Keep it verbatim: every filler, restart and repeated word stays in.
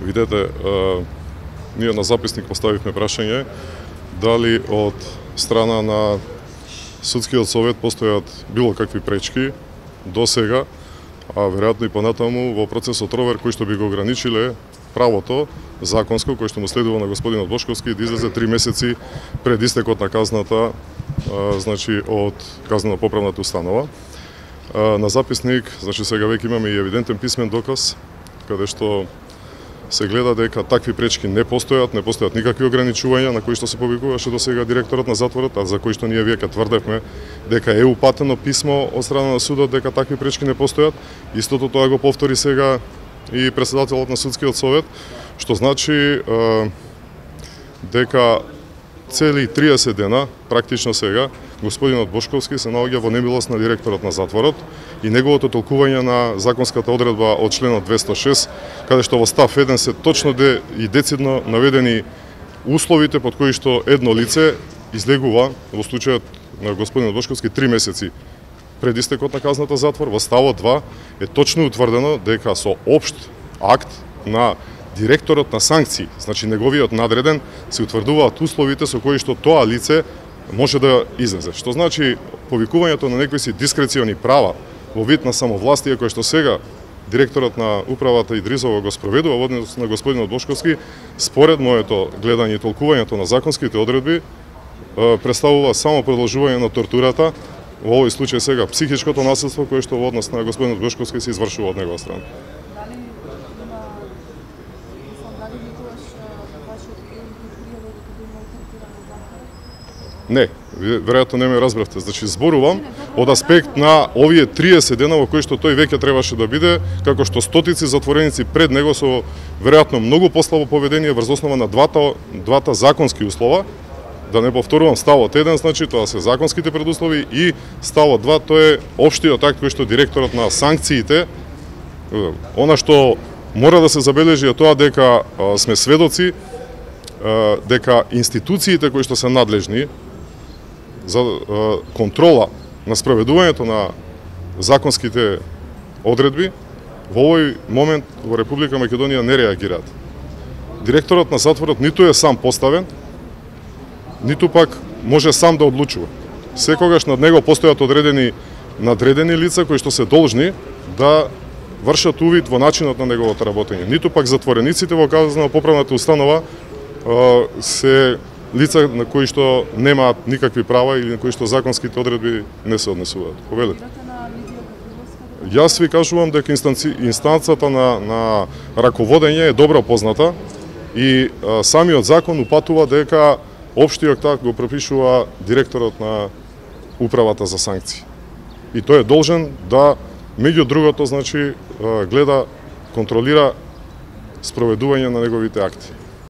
Видете, ние на записник поставивме прашање дали од страна на Судскиот совет постојат било какви пречки до сега, а веројатно и понатаму во процесот ровер кој што би го ограничиле правото законско кој што му следува на господинот Бошковски да излезе три месеци пред истекот на казната, а, значи од казнено-поправната установа. А, на записник, значи сега веќе имаме и евидентен писмен доказ каде што се гледа дека такви пречки не постојат, не постојат никакви ограничувања на кои што се повикуваше до сега директорот на затворот, а за кои што ние веќе тврдевме дека е упатено писмо од страна на судот дека такви пречки не постојат. Истото тоа го повтори сега и претседателот на Судскиот совет, што значи е, дека цели триесет дена, практично сега, господинот Бошковски се наоѓа во немилост на директорот на затворот и неговото толкување на законската одредба од членот двесте и шест, каде што во став еден се точно де и децидно наведени условите под кои што едно лице излегува во случајот на господинот Бошковски три месеци пред истекот на казната затвор. Во ставот два е точно утврдено дека со општ акт на директорот на санкции, значи неговиот надреден, се утврдуваат условите со кои што тоа лице може да излезе. Што значи повикувањето на некои си дискрециони права во вид на самовластие кој што сега директорот на управата Идризова го спроведува во однос на господинот Бошковски, според моето гледање и толкувањето на законските одредби, представува само продолжување на тортурата, во овој случај сега психичкото насилство кое што во однос на господинот Бошковски се извршува од негова страна. Не, веројатно не ме разбравте. Значи, зборувам од аспект на овие триесет дена во кои што тој веќе требаше да биде, како што стотици затвореници пред него со веројатно многу послабо поведение врз основа на двата, двата законски услова. Да не повторувам, ставот еден, значи, тоа се законските предуслови, и ставот два, тоа е општиот акт кој што директорот на санкциите, она што мора да се забележи е тоа дека а, сме сведоци а, дека институциите кои што се надлежни за контрола на спроведувањето на законските одредби во овој момент во Република Македонија не реагираат. Директорот на затворот ниту е сам поставен, ниту пак може сам да одлучува. Секогаш над него постојат одредени надредени лица кои што се должни да вршат увид во начинот на неговото работење. Ниту пак затворениците во казнено-поправната установа се лица на кои што немаат никакви права или на кои што законските одредби не се однесуваат. Повелете. Јас ви кажувам дека инстанци, инстанцата на, на раководење е добро позната и а, самиот закон упатува дека општиот акт го пропишува директорот на управата за санкции. И тој е должен да, меѓу другото, значи, гледа, контролира спроведување на неговите акти.